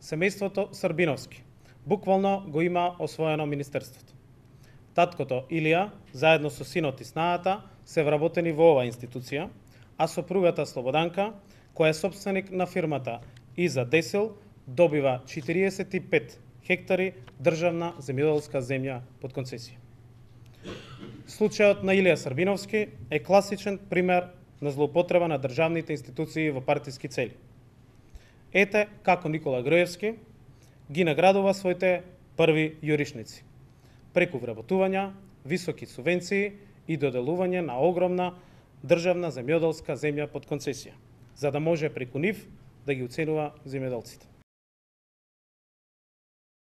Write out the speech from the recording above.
семејството Србиновски буквално го има освоено министерството. Таткото Илија, заедно со синот и снаата, се вработени во оваа институција, а сопругата Слободанка, која е собственик на фирмата Иза Десел, добива 45 хектари државна земјоделска земја под концесија. Случајот на Илија Србиновски е класичен пример на злоупотреба на државните институции во партиски цели. Ете како Никола Груевски ги наградува своите први јуришници, преку вработувања, високи субвенции и доделување на огромна државна земјоделска земја под концесија, за да може преку нив да ги уценува земјоделците.